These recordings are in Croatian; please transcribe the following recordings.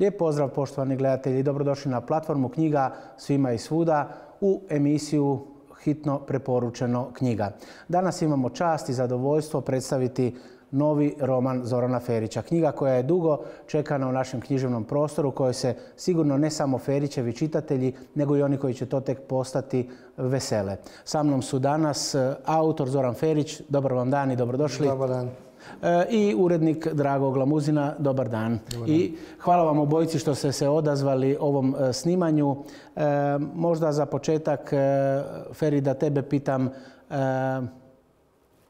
Lijep pozdrav poštovani gledatelji, dobrodošli na platformu Knjiga svima i svuda u emisiju Hitno preporučeno knjiga. Danas imamo čast i zadovoljstvo predstaviti novi roman Zorana Ferića. Knjiga koja je dugo čekana u našem književnom prostoru, kojoj se sigurno ne samo Ferićevi čitatelji, nego i oni koji će to tek postati vesele. Sa mnom su danas autor Zoran Ferić, dobar vam dan i dobrodošli. Dobar dan. I urednik Drago Glamuzina, dobar dan. I hvala vam obojici što ste se odazvali ovom snimanju. Možda za početak, Feri, da tebe pitam,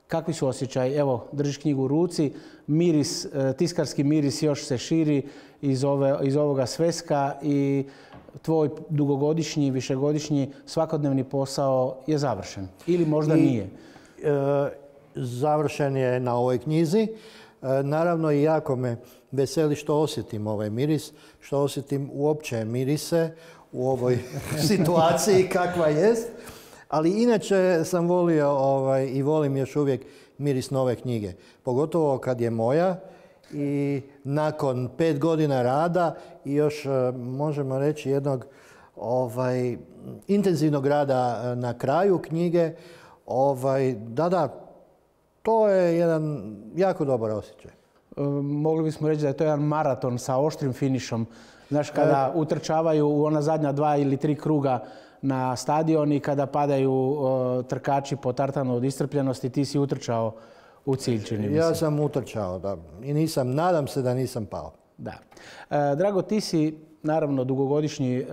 kakvi su osjećaj? Evo, držiš knjigu u ruci, miris, tiskarski miris još se širi iz ovoga sveska i tvoj dugogodišnji, višegodišnji svakodnevni posao je završen. Ili možda nije? Završen je na ovoj knjizi. Naravno i jako me veseli što osjetim ovaj miris, što osjetim uopće mirise u ovoj situaciji kakva jest. Ali inače sam volio i volim još uvijek miris nove knjige. Pogotovo kad je moja i nakon 5 godina rada i još možemo reći jednog intenzivnog rada na kraju knjige. To je jedan jako dobar osjećaj. Mogli bismo reći da je to jedan maraton sa oštrim finišom. Znaš, kada utrčavaju u ona zadnja 2 ili 3 kruga na stadion i kada padaju trkači po tartanu od iscrpljenosti, ti si utrčao u cilj, čini mi se. Ja sam utrčao, da. I nadam se da nisam pao. Da. Drago, ti si naravno dugogodišnji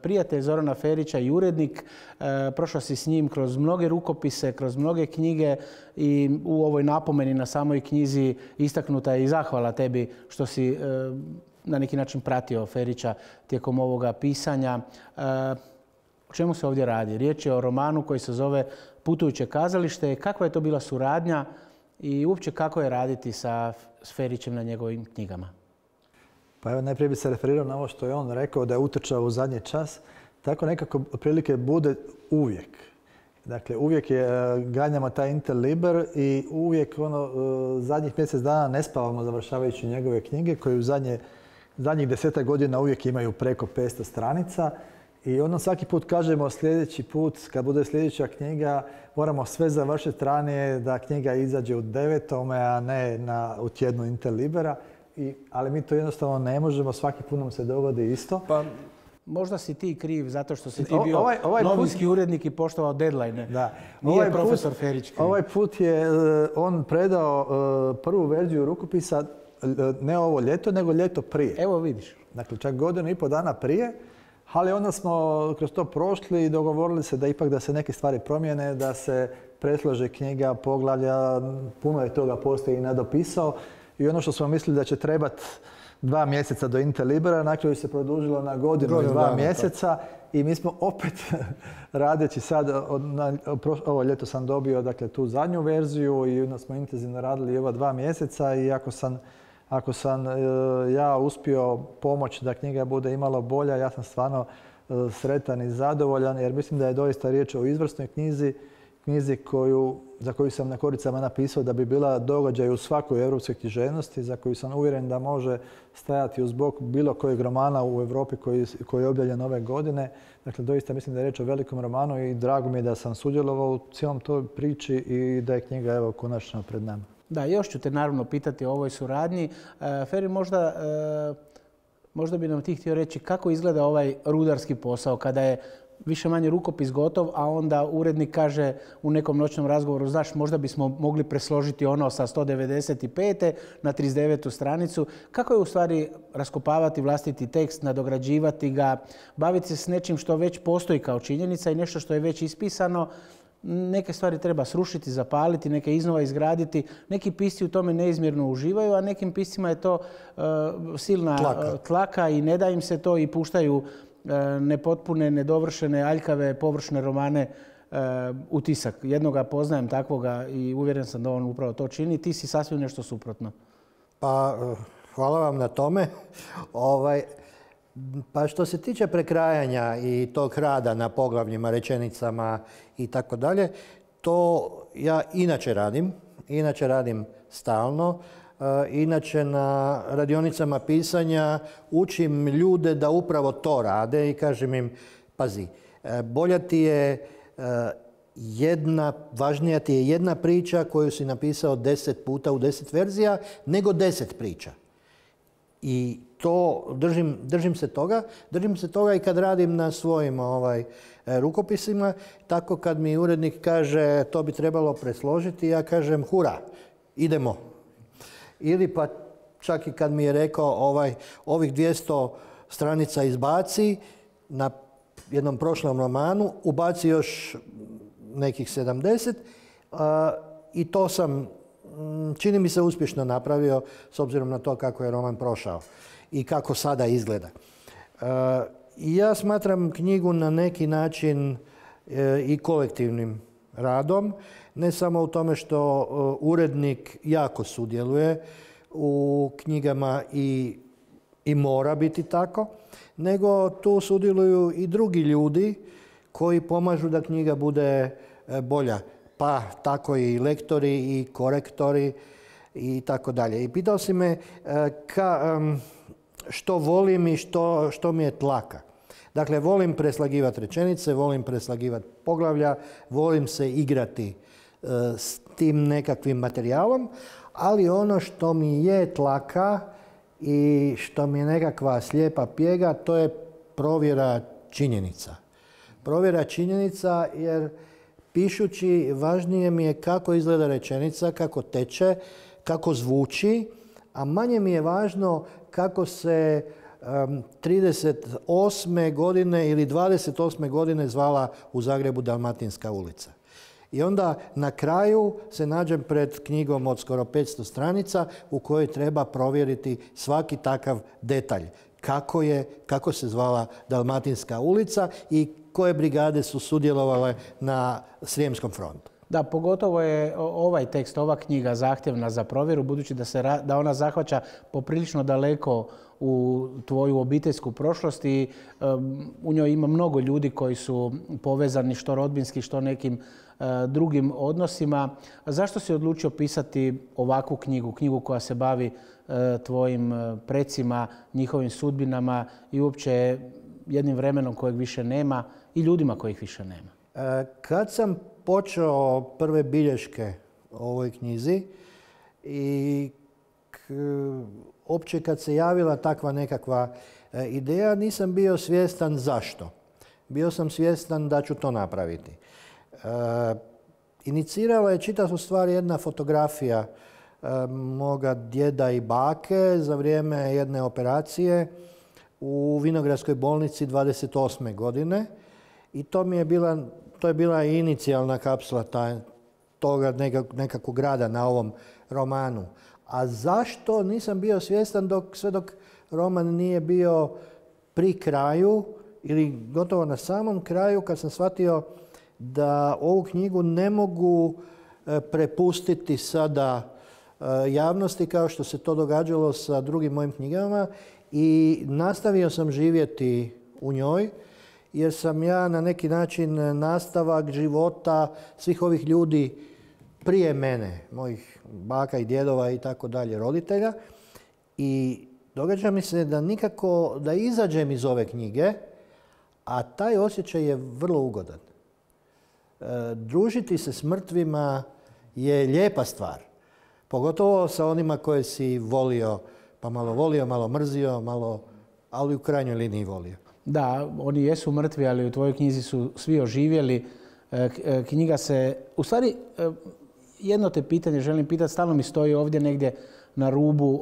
prijatelj Zorana Ferića i urednik. Prošao si s njim kroz mnoge rukopise, kroz mnoge knjige i u ovoj napomeni na samoj knjizi istaknuta je i zahvala tebi što si na neki način pratio Ferića tijekom ovoga pisanja. O čemu se ovdje radi? Riječ je o romanu koji se zove Putujuće kazalište. Kakva je to bila suradnja i uopće kako je raditi sa Ferićem na njegovim knjigama? Pa evo, najprije bi se referirao na ovo što je on rekao da je utrčao u zadnji čas. Tako nekako otprilike bude uvijek. Dakle, uvijek ganjamo taj Interliber i uvijek zadnjih mjesec dana ne spavamo završavajući njegove knjige koje u zadnjih 10 godina uvijek imaju preko 500 stranica. I onda svaki put kažemo sljedeći put, kad bude sljedeća knjiga, moramo sve završiti ranije da knjiga izađe u 9. a ne u tjednu Interlibera. Ali mi to jednostavno ne možemo, svaki put nam se dogodi isto. Pa, možda si ti kriv zato što si ti bio novinski urednik i poštovao deadline. Da. Nije profesor Ferić kriv. Ovaj put je on predao prvu verziju rukopisa ne ovo ljeto, nego ljeto prije. Evo vidiš. Dakle, čak 1,5 dana prije. Ali onda smo kroz to prošli i dogovorili se da ipak da se neke stvari promijene, da se preslože knjiga, poglavlja, puno je toga postoji i nadopisao. I ono što smo mislili da će trebati 2 mjeseca do Interlibera, na kraju se produžilo na godinu i 2 mjeseca. I mi smo opet radeći sad, ovo ljeto sam dobio tu zadnju verziju i onda smo intenzivno radili ova 2 mjeseca i ako sam ja uspio pomoći da knjiga bude imalo bolja, ja sam stvarno sretan i zadovoljan jer mislim da je doista riječ o izvrsnoj knjizi za koju sam na koricama napisao da bi bila događaj u svakoj europskoj književnosti, za koju sam uvjeren da može stajati uz bok bilo kojeg romana u Europi koji je objavljen ove godine. Dakle, doista mislim da je riječ o velikom romanu i drago mi je da sam sudjelovao u cijelom toj priči i da je knjiga evo konačno pred nama. Da, još ću te naravno pitati o ovoj suradnji. Feri, možda bi nam ti htio reći kako izgleda ovaj rudarski posao kada je više manje rukopis gotov, a onda urednik kaže u nekom noćnom razgovoru, znaš, možda bismo mogli presložiti ono sa 195. na 39. stranicu. Kako je u stvari raskopavati vlastiti tekst, nadograđivati ga, baviti se s nečim što već postoji kao činjenica i nešto što je već ispisano? Neke stvari treba srušiti, zapaliti, neke iznova izgraditi. Neki pisci u tome neizmjerno uživaju, a nekim piscima je to silna tlaka i ne da im se to i puštaju nepotpune, nedovršene, aljkave, površne romane u tisak. Jednoga poznajem takvoga i uvjeren sam da on upravo to čini. Ti si sasvim nešto suprotno. Pa, hvala vam na tome. Pa što se tiče prekrajanja i tog rada na poglavljima, rečenicama i tako dalje, to ja inače radim stalno. Inače na radionicama pisanja učim ljude da upravo to rade i kažem im, pazi, bolja ti je važnija ti je jedna priča koju si napisao 10 puta u 10 verzija nego 10 priča. I to držim se toga. Držim se toga i kad radim na svojim rukopisima. Tako kad mi urednik kaže to bi trebalo presložiti, ja kažem hura, idemo. Ili pa čak i kad mi je rekao ovih 200 stranica izbaci na jednom prošlom romanu, ubaci još nekih 70 i to sam, čini mi se, uspješno napravio s obzirom na to kako je roman prošao i kako sada izgleda. Ja smatram knjigu na neki način i kolektivnim radom, ne samo u tome što urednik jako sudjeluje u knjigama i mora biti tako, nego tu sudjeluju i drugi ljudi koji pomažu da knjiga bude bolja. Pa tako i lektori i korektori i tako dalje. I pitao si me što volim i što mi je tlaka. Dakle, volim preslagivati rečenice, volim preslagivati poglavlja, volim se igrati s tim nekakvim materijalom, ali ono što mi je tlaka i što mi je nekakva slijepa pjega, to je provjera činjenica. Provjera činjenica jer pišući važnije mi je kako izgleda rečenica, kako teče, kako zvuči, a manje mi je važno kako se 38. godine ili 28. godine zvala u Zagrebu Dalmatinska ulica. I onda na kraju se nađem pred knjigom od skoro 500 stranica u kojoj treba provjeriti svaki takav detalj. Kako se zvala Dalmatinska ulica i koje brigade su sudjelovale na Srijemskom frontu. Da, pogotovo je ovaj tekst, ova knjiga zahtjevna za provjeru, budući da ona zahvaća poprilično daleko u tvoju obiteljsku prošlost i u njoj ima mnogo ljudi koji su povezani što rodbinski, što nekim drugim odnosima. Zašto si odlučio pisati ovakvu knjigu, knjigu koja se bavi tvojim precima, njihovim sudbinama i uopće jednim vremenom kojeg više nema i ljudima kojih više nema? Kad sam počeo prve bilješke o ovoj knjizi i opće kad se javila takva nekakva ideja, nisam bio svjestan zašto. Bio sam svjestan da ću to napraviti. Inicirala je čitavu stvar jedna fotografija moga djeda i bake za vrijeme jedne operacije u Vinogradskoj bolnici 28. godine. I to je bila inicijalna kapsula toga nekakvog rada na ovom romanu. A zašto nisam bio svjestan sve dok roman nije bio pri kraju ili gotovo na samom kraju kad sam shvatio da ovu knjigu ne mogu prepustiti sada javnosti kao što se to događalo sa drugim mojim knjigama i nastavio sam živjeti u njoj jer sam ja na neki način nastavak života svih ovih ljudi prije mene, mojih baka i djedova i tako dalje, roditelja. I događa mi se da nikako da izađem iz ove knjige, a taj osjećaj je vrlo ugodan. Družiti se s mrtvima je lijepa stvar. Pogotovo sa onima koje si volio, pa malo volio, malo mrzio, ali u krajnjoj liniji volio. Da, oni jesu mrtvi, ali u tvojoj knjizi su svi oživjeli. Knjiga se... U stvari, jedno te pitanje želim pitati, stalno mi stoji ovdje negdje na rubu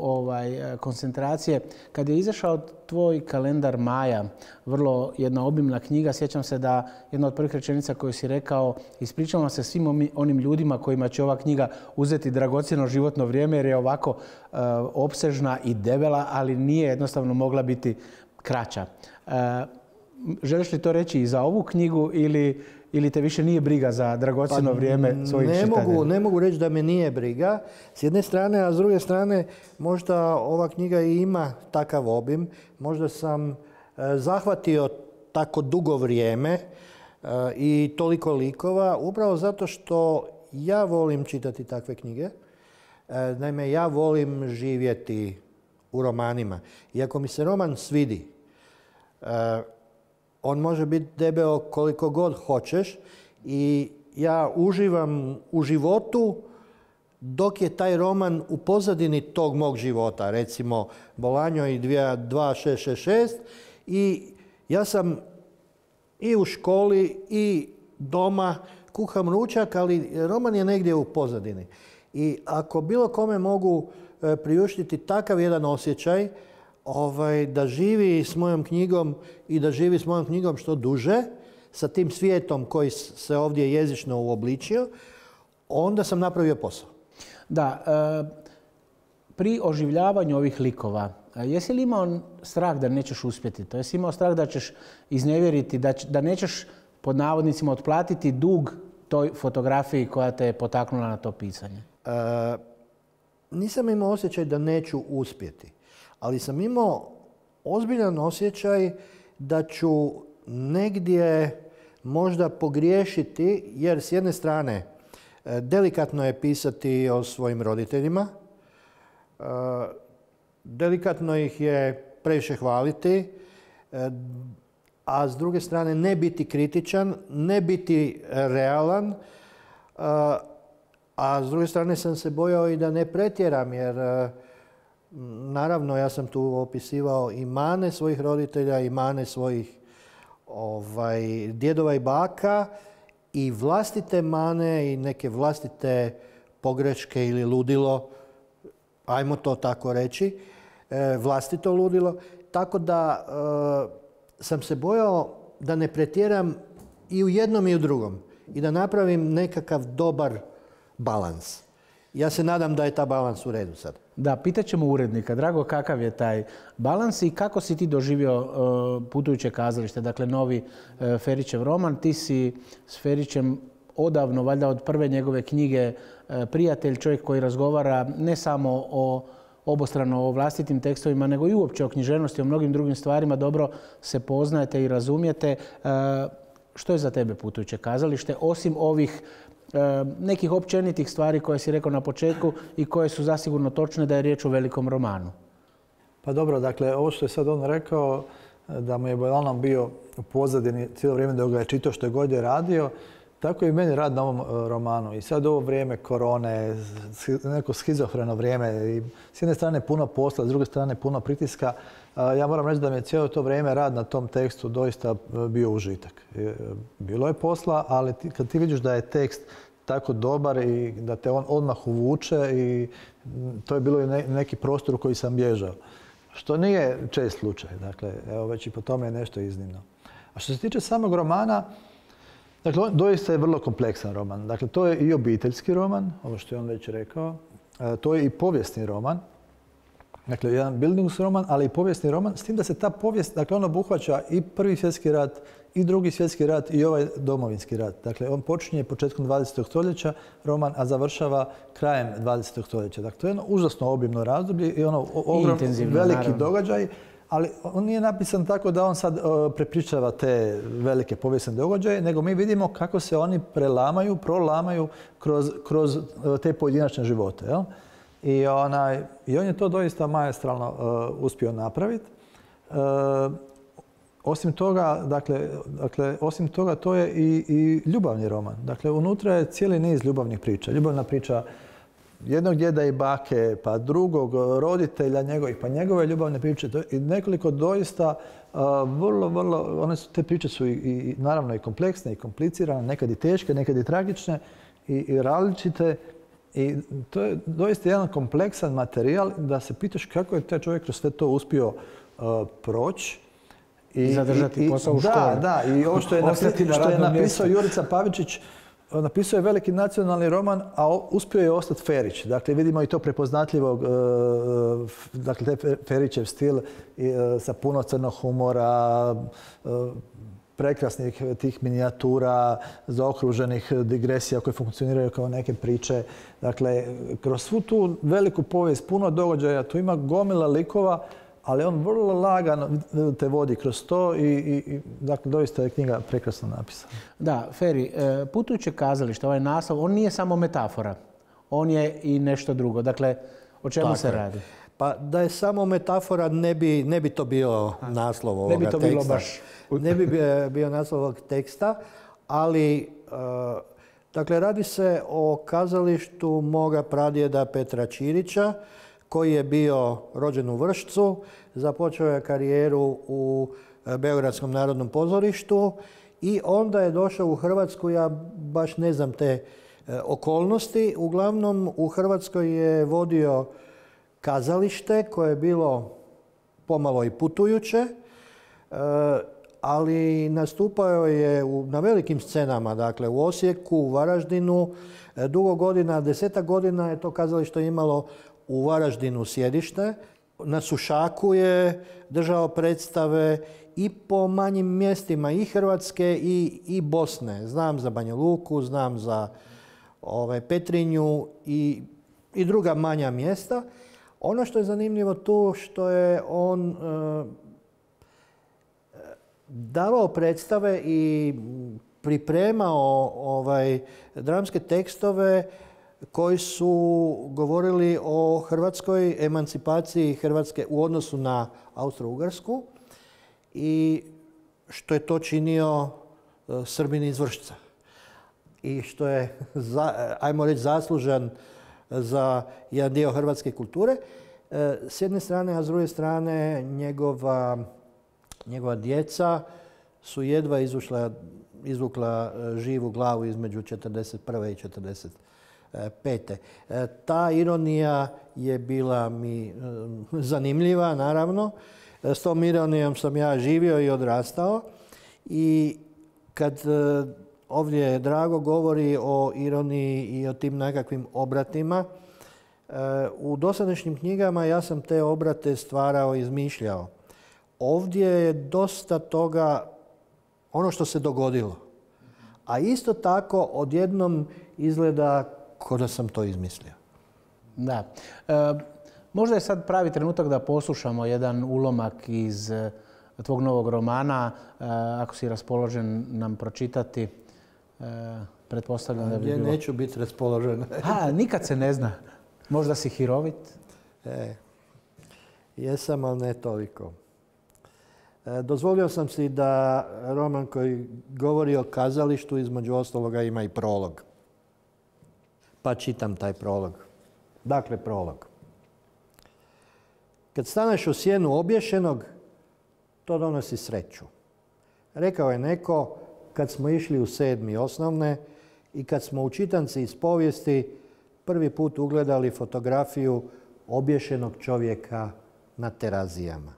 koncentracije. Kad je izašao tvoj kalendar Maja, vrlo jedna obimna knjiga, sjećam se da jedna od prvih rečenica koju si rekao, ispričavam se svim onim ljudima kojima će ova knjiga uzeti dragocjeno životno vrijeme jer je ovako opsežna i debela, ali nije jednostavno mogla biti kraća. Želiš li to reći i za ovu knjigu ili te više nije briga za dragocjeno vrijeme svojih čitatelja? Ne mogu reći da me nije briga s jedne strane, a s druge strane možda ova knjiga i ima takav obim. Možda sam zahvatio tako dugo vrijeme i toliko likova upravo zato što ja volim čitati takve knjige. Naime, ja volim živjeti u romanima. Iako mi se roman svidi, on može biti debeo koliko god hoćeš i ja uživam u životu dok je taj roman u pozadini tog mog života. Recimo, Bolanjo i 2666 i ja sam i u školi i doma kuham ručak, ali roman je negdje u pozadini. I ako bilo kome mogu priuštiti takav jedan osjećaj da živi s mojom knjigom i da živi s mojom knjigom što duže, sa tim svijetom koji se ovdje jezično uobličio, onda sam napravio posao. Da, pri oživljavanju ovih likova, jesi li imao strah da nećeš uspjeti? To jesi imao strah da ćeš iznevjeriti, da nećeš pod navodnicima otplatiti dug toj fotografiji koja te je potaknula na to pisanje? Nisam imao osjećaj da neću uspjeti, ali sam imao ozbiljan osjećaj da ću negdje možda pogriješiti, jer s jedne strane delikatno je pisati o svojim roditeljima, delikatno ih je previše hvaliti, a s druge strane ne biti kritičan, ne biti realan, a s druge strane sam se bojao i da ne pretjeram, jer naravno ja sam tu opisivao i mane svojih roditelja i mane svojih djedova i baka i vlastite mane i neke vlastite pogreške ili ludilo, ajmo to tako reći, vlastito ludilo. Tako da sam se bojao da ne pretjeram i u jednom i u drugom i da napravim nekakav dobar balans. Ja se nadam da je ta balans u redu sad. Da, pitat ćemo urednika. Drago, kakav je taj balans i kako si ti doživio Putujuće kazalište, dakle novi Ferićev roman. Ti si s Ferićem odavno, valjda od prve njegove knjige, prijatelj, čovjek koji razgovara ne samo obostrano o vlastitim tekstovima, nego i uopće o književnosti, o mnogim drugim stvarima. Dobro se poznajete i razumijete. Što je za tebe Putujuće kazalište, osim ovih nekih općenitih stvari koje si rekao na početku i koje su zasigurno točne da je riječ o velikom romanu? Pa dobro, dakle, ovo što je sad on rekao, da mu je uglavnom bio u pozadini cijelo vrijeme dok ga je čitao što je god je radio, tako je i meni rad na ovom romanu. I sad ovo vrijeme korone, neko schizofreno vrijeme, i s jedne strane puno posla, s druge strane puno pritiska. Ja moram reći da mi je cijelo to vrijeme rad na tom tekstu doista bio užitak. Bilo je posla, ali kad ti vidiš da je tekst tako dobar i da te on odmah uvuče, i to je bilo i neki prostor u koji sam bježao. Što nije čest slučaj. Dakle, evo već i po tome je nešto iznimno. A što se tiče samog romana, dakle, on doista je vrlo kompleksan roman. Dakle, to je i obiteljski roman, ovo što je on već rekao. To je i povijesni roman. Dakle, jedan Bildungsroman, ali i povijesni roman, s tim da se ta povijest, dakle, on obuhvaća i Prvi svjetski rat, i Drugi svjetski rat, i ovaj Domovinski rat. Dakle, on počinje početkom 20. stoljeća roman, a završava krajem 20. stoljeća. Dakle, to je jedno užasno obimno razdoblje i ono veliki događaj, ali on nije napisan tako da on sad prepričava te velike povijesne događaje, nego mi vidimo kako se oni prolamaju kroz te pojedinačne živote. Jel? I on je to doista maestralno uspio napraviti. Osim toga, to je i ljubavni roman. Dakle, unutra je cijeli niz ljubavnih priča. Ljubavna priča jednog djeda i bake, pa drugog roditelja njegovih, pa njegove ljubavne priče. I nekoliko doista vrlo, te priče su i naravno i kompleksne i komplicirane, nekad i teške, nekad i tragične i različite. I to je doista jedan kompleksan materijal da se pitaš kako je taj čovjek kroz sve to uspio proći. I zadržati posao u školi. Da. I ovo što je napisao Jurica Pavičić, napisao je veliki nacionalni roman, a uspio je ostati Ferić. Dakle, vidimo i to prepoznatljivog, dakle, Ferićev stil sa puno crnog humora, prekrasnih tih minijatura, zaokruženih digresija koje funkcioniraju kao neke priče. Dakle, kroz svu tu veliku povijest, puno događaja, tu ima gomila likova, ali on vrlo lagano te vodi kroz to i dakle, doista je knjiga prekrasno napisana. Da, Feri, Putujuće kazalište, ovaj naslov, on nije samo metafora. on je i nešto drugo. Dakle, o čemu se radi? Pa da je samo metafora ne bi to bio naslov ovoga teksta. Ne bi to bilo baš... Ne bi bio naslov ovog teksta, ali dakle, radi se o kazalištu moga pradjeda Petra Ćirića, koji je bio rođen u Vršcu, započeo je karijeru u Beogradskom narodnom pozorištu i onda je došao u Hrvatsku, ja baš ne znam te okolnosti. Uglavnom u Hrvatskoj je vodio kazalište koje je bilo pomalo i putujuće, ali nastupao je na velikim scenama, dakle u Osijeku, u Varaždinu. Dugo godina, 10 godina je to kazalište imalo u Varaždinu sjedište. Na Sušaku je držao predstave i po manjim mjestima i Hrvatske i Bosne. Znam za Banja Luku, znam za Petrinju i druga manja mjesta. Ono što je zanimljivo tu što je on davao predstave i pripremao dramske tekstove koji su govorili o hrvatskoj emancipaciji Hrvatske u odnosu na Austro-Ugarsku i što je to činio Srbin iz Vršca. I što je, ajmo reći, zaslužan za jedan dio hrvatske kulture. S jedne strane, a s druge strane njegova djeca su jedva izvukla živu glavu između 1941. i 1945. Ta ironija je bila mi zanimljiva, naravno. S tom ironijom sam ja živio i odrastao. I kad ovdje Drago govori o ironiji i o tim nekakvim obratima, u dosadašnjim knjigama ja sam te obrate stvarao i izmišljao. Ovdje je dosta toga ono što se dogodilo. A isto tako odjednom izgleda kao da sam to izmislio. Da. Možda je sad pravi trenutak da poslušamo jedan ulomak iz tvog novog romana. Ako si raspoložen nam pročitati, pretpostavljam da bi bilo... Neću biti raspoložen. Nikad se ne zna. Možda si hirovit? Jesam, ali ne toliko. Dozvolio sam si da roman koji govori o kazalištu između ostaloga ima i prolog. Pa čitam taj prolog. Dakle, prolog. Kad staneš u sjenu obješenog, to donosi sreću. Rekao je neko kad smo išli u 7. osnovne i kad smo u čitanci iz povijesti prvi put ugledali fotografiju obješenog čovjeka na Terazijama.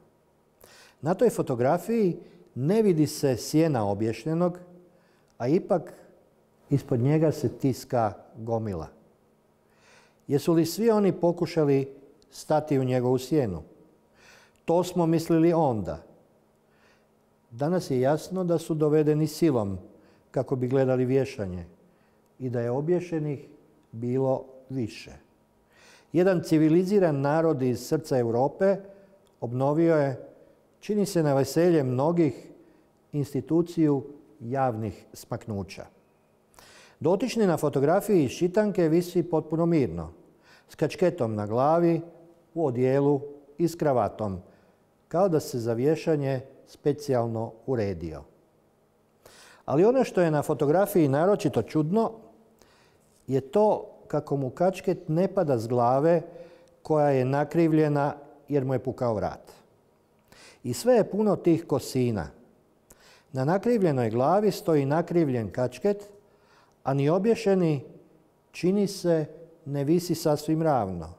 Na toj fotografiji ne vidi se sjena obješenog, a ipak ispod njega se tiska gomila. Jesu li svi oni pokušali stati u njegovu sjenu? To smo mislili onda. Danas je jasno da su dovedeni silom kako bi gledali vješanje i da je obješenih bilo više. Jedan civiliziran narod iz srca Europe obnovio je, čini se na veselje mnogih, instituciju javnih smaknuća. Dotični na fotografiji iz čitanke visi potpuno mirno, s kačketom na glavi, u odijelu i s kravatom, kao da se za vješanje specijalno uredio. Ali ono što je na fotografiji naročito čudno je to kako mu kačket ne pada s glave koja je nakrivljena jer mu je pukao vrat. I sve je puno tih kosina. Na nakrivljenoj glavi stoji nakrivljen kačket, a ni obješeni, čini se, ne visi sasvim ravno.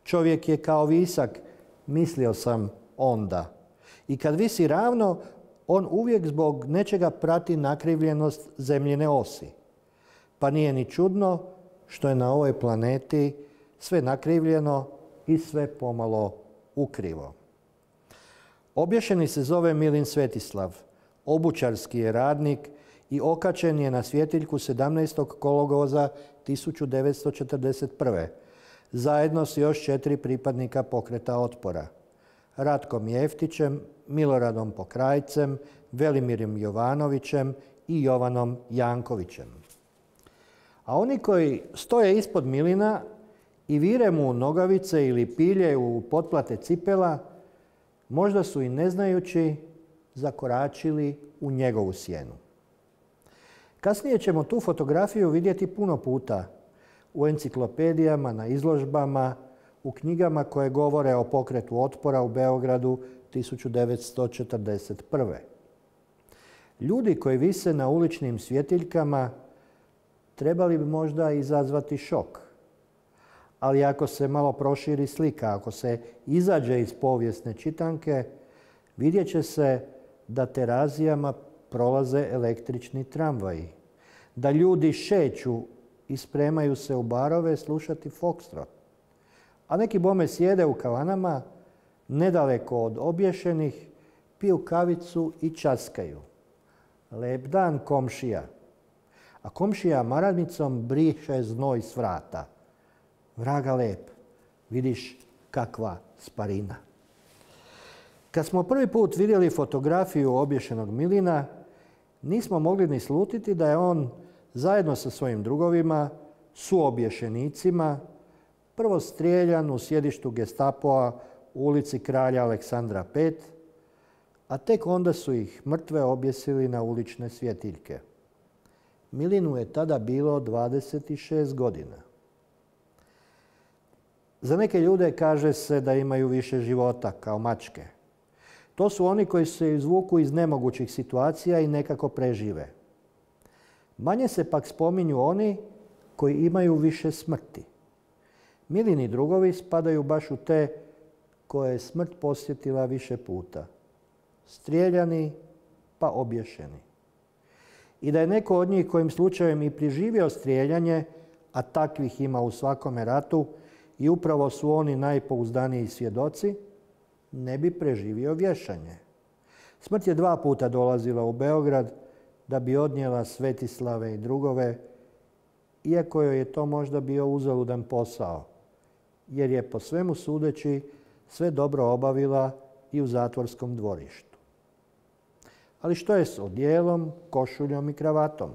Čovjek je kao visak, mislio sam onda. I kad visi ravno, on uvijek zbog nečega prati nakrivljenost zemljine osi. Pa nije ni čudno što je na ovoj planeti sve nakrivljeno i sve pomalo ukrivo. Obješeni se zove Milin Svetislav, obućarski je radnik i okačen je na svjetiljku 17. kolovoza 1941. zajedno s još 4 pripadnika pokreta otpora. Ratkom Jeftićem, Miloradom Pokrajcem, Velimirom Jovanovićem i Jovanom Jankovićem. A oni koji stoje ispod Milina i vire mu nogavice ili pilje u potplate cipela, možda su i ne znajući zakoračili u njegovu sjenu. Kasnije ćemo tu fotografiju vidjeti puno puta u enciklopedijama, na izložbama, u knjigama koje govore o pokretu otpora u Beogradu 1941. Ljudi koji vise na uličnim svjetiljkama trebali bi možda izazvati šok. Ali ako se malo proširi slika, ako se izađe iz povijesne čitanke, vidjet će se da terazijama prolaze električni tramvaji, da ljudi šeću i spremaju se u barove slušati foxtrot, a neki bome sjede u kavanama nedaleko od obješenih, piju kavicu i časkaju. Lep dan, komšija. A komšija maradnicom briše znoj s vrata. Vraga lep, vidiš kakva sparina. Kad smo prvi put vidjeli fotografiju obješenog Milina, nismo mogli ni slutiti da je on zajedno sa svojim drugovima, suobješenicima, prvo strijeljan u sjedištu Gestapoa u ulici Kralja Aleksandra V, a tek onda su ih mrtve objesili na ulične svjetiljke. Milinu je tada bilo 26 godina. Za neke ljude kaže se da imaju više života, kao mačke. To su oni koji se izvuku iz nemogućih situacija i nekako prežive. Manje se pak spominju oni koji imaju više smrti. Milini drugovi spadaju baš u te koje je smrt posjetila više puta. Strijeljani pa obješeni. I da je neko od njih kojim slučajem i preživio strijeljanje, a takvih ima u svakome ratu, i upravo su oni najpouzdaniji svjedoci, ne bi preživio vješanje. Smrt je 2 puta dolazila u Beograd da bi odnijela Svetislave i drugove, iako joj je to možda bio uzaludan posao, jer je po svemu sudeći sve dobro obavila i u zatvorskom dvorištu. Ali što je s odjelom, košuljom i kravatom?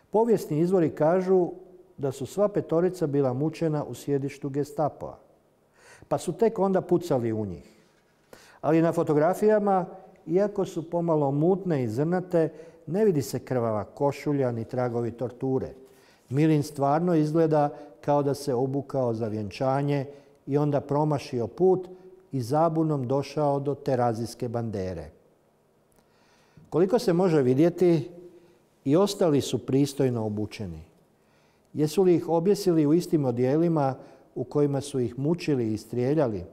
Povijesni izvori kažu da su sva 5 bila mučena u sjedištu Gestapoa, pa su tek onda pucali u njih. Ali na fotografijama, iako su pomalo mutne i zrnate, ne vidi se krvava košulja ni tragovi torture. Milin stvarno izgleda kao da se obukao za vjenčanje i onda promašio put i zabunom došao do terazijske bandere. Koliko se može vidjeti, i ostali su pristojno obučeni. Jesu li ih objesili u istim odjelima u kojima su ih mučili i strijeljali?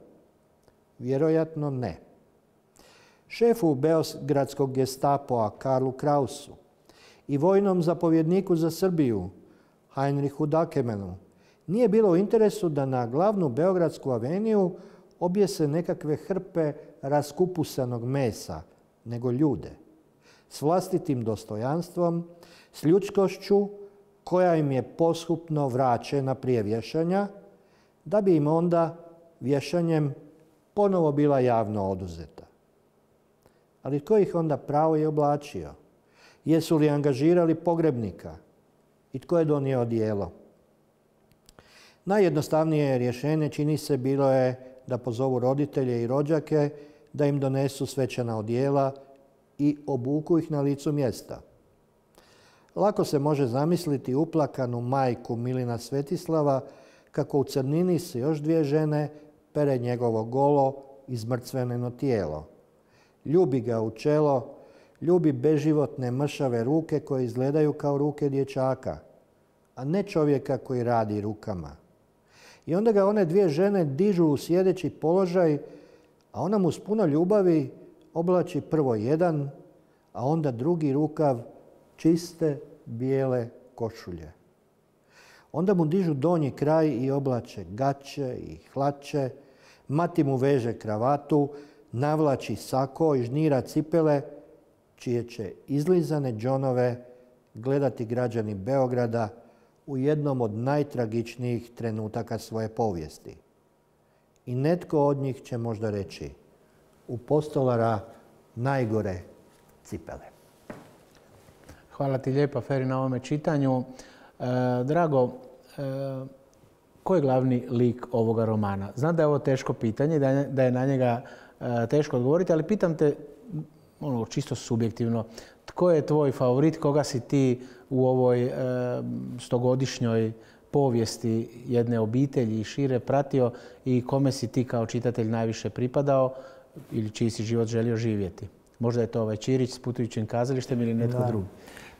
Vjerojatno ne. Šefu beogradskog Gestapoa Karlu Krausu i vojnom zapovjedniku za Srbiju Heinrichu Dakemenu nije bilo u interesu da na glavnu beogradsku aveniju objese nekakve hrpe raskupusanog mesa, nego ljude. S vlastitim dostojanstvom, s ljudskošću koja im je poshupno vraćena prije vješanja, da bi im onda vješanjem ponovo bila javno oduzeta. Ali tko ih onda pravo je oblačio? Jesu li angažirali pogrebnika? I tko je donio odijelo? Najjednostavnije rješenje, čini se, bilo je da pozovu roditelje i rođake da im donesu svečana odijela i obuku ih na licu mjesta. Lako se može zamisliti uplakanu majku Milina Svetislava kako u crnini se još 2 žene pere njegovo golo izmrcveneno tijelo. Ljubi ga u čelo, ljubi beživotne mršave ruke koje izgledaju kao ruke dječaka, a ne čovjeka koji radi rukama. I onda ga one 2 žene dižu u sjedeći položaj, a ona mu s puno ljubavi oblači prvo jedan, a onda drugi rukav čiste bijele košulje. Onda mu dižu donji kraj i oblače gaće i hlače, mati mu veže kravatu, navlači sako i žnira cipele, čije će izlizane džonove gledati građani Beograda u jednom od najtragičnijih trenutaka svoje povijesti. I netko od njih će možda reći: u postolara najgore cipele. Hvala ti lijepa, Feri, na ovome čitanju. Drago, ko je glavni lik ovoga romana? Znam da je ovo teško pitanje, da je na njega teško odgovoriti, ali pitam te čisto subjektivno. Tko je tvoj favorit? Koga si ti u ovoj stogodišnjoj povijesti jedne obitelji i šire pratio i kome si ti kao čitatelj najviše pripadao ili čiji si život želio živjeti? Možda je to ovaj Ćirić s putujućim kazalištem ili netko drugi.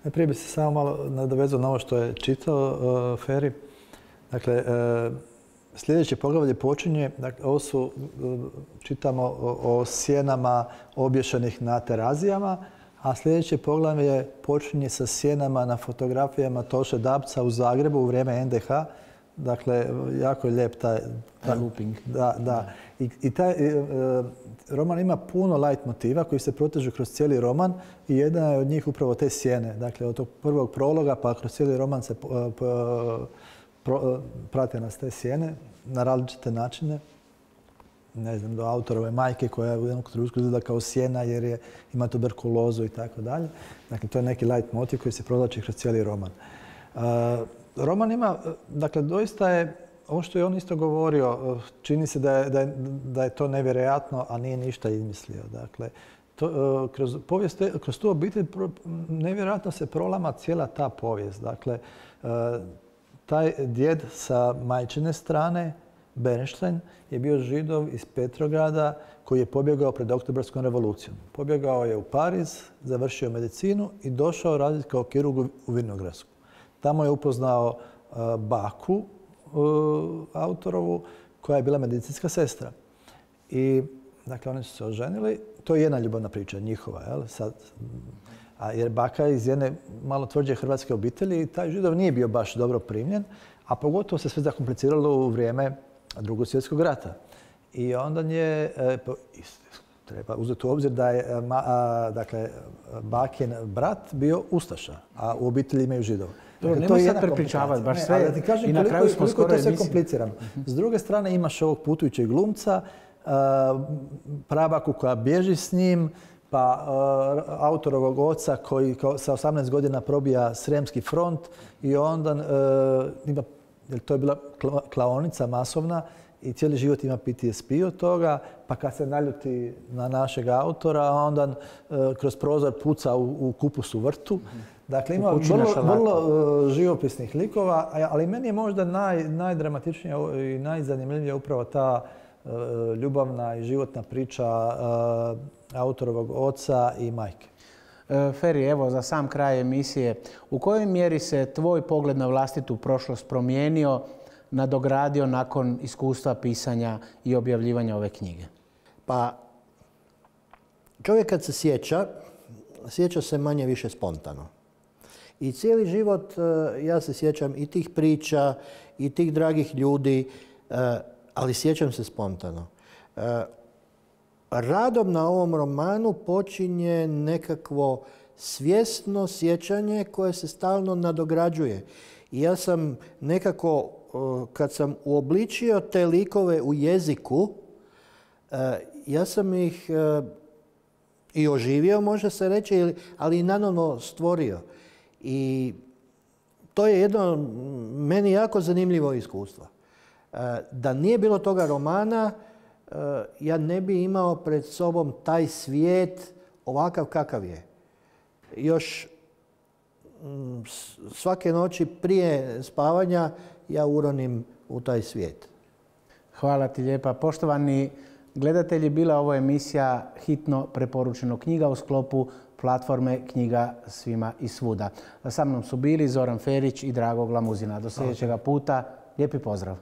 Prije bi se samo malo nadovezao na ovo što je čitao Feri. Dakle, sljedeće poglavlje počinje, dakle, ovo su, čitamo o sjenama obješenih na terazijama, a sljedeće poglavlje počinje sa sjenama na fotografijama Toše Dabca u Zagrebu u vrijeme NDH. Dakle, jako je lijep taj looping. Da. I taj roman ima puno light motiva koji se protežu kroz cijeli roman i jedna je od njih upravo te sjene. Dakle, od tog prvog prologa pa kroz cijeli roman se prate nas te sjene na različite načine. Ne znam, do autorove majke koja u jednom trenutku izgleda kao sjena jer ima tuberkulozu i tako dalje. Dakle, to je neki light motiv koji se provlači kroz cijeli roman. Roman ima, dakle, doista je, ovo što je on isto govorio, čini se da je to nevjerojatno, a nije ništa izmislio. Dakle, kroz tu obitelj nevjerojatno se prolama cijela ta povijest. Dakle, taj djed sa majčine strane, Bernstein, je bio Židov iz Petrograda koji je pobjegao pred Oktobarskom revolucijom. Pobjegao je u Pariz, završio medicinu i došao raditi kao kirurg u Vinogradsku. Tamo je upoznao baku autorovu koja je bila medicinska sestra. I, dakle, oni su se oženili. To je jedna ljubavna priča njihova. Jer baka je iz jedne malo tvrđe hrvatske obitelji i taj Židov nije bio baš dobro primljen, a pogotovo se sve zakompliciralo u vrijeme Drugog svjetskog rata. I onda je, treba uzeti u obzir da je bakin brat bio ustaša, a u obitelji imaju Židova. Nemoj sad prepričavati, baš sve. Da ti kažem i na kraju smo skoro to sve komplicirano. S druge strane imaš ovog putujućeg glumca, prabaku koja bježi s njim, pa autorovog oca koji sa 18 godina probija Sremski front i onda to je bila klaonica masovna i cijeli život ima PTSP od toga, pa kad se naljuti na našeg autora, onda kroz prozor puca u kupusu vrtu. Dakle, ima vrlo živopisnih likova, ali meni je možda najdramatičnija i najzanimljivija upravo ta ljubavna i životna priča autorovog oca i majke. Feri, evo za sam kraj emisije, u kojoj mjeri se tvoj pogled na vlastitu prošlost promijenio, nadogradio nakon iskustva pisanja i objavljivanja ove knjige? Pa, čovjek kad se sjeća se manje više spontano. I cijeli život ja se sjećam i tih priča i tih dragih ljudi, ali sjećam se spontano. Radom na ovom romanu počinje nekakvo svjesno sjećanje koje se stalno nadograđuje. I ja sam nekako, kad sam uobličio te likove u jeziku, ja sam ih i oživio, može se reći, ali i nanovno stvorio. I to je jedno meni jako zanimljivo iskustvo. Da nije bilo toga romana, ja ne bi imao pred sobom taj svijet ovakav kakav je. Još svake noći prije spavanja ja uronim u taj svijet. Hvala ti lijepa. Poštovani gledatelji, bila ovo emisija Hitno preporučeno knjiga u sklopu platforme Knjiga svima i svuda. Sa mnom su bili Zoran Ferić i Drago Glamuzina. Do sljedećega puta. Lijepi pozdrav.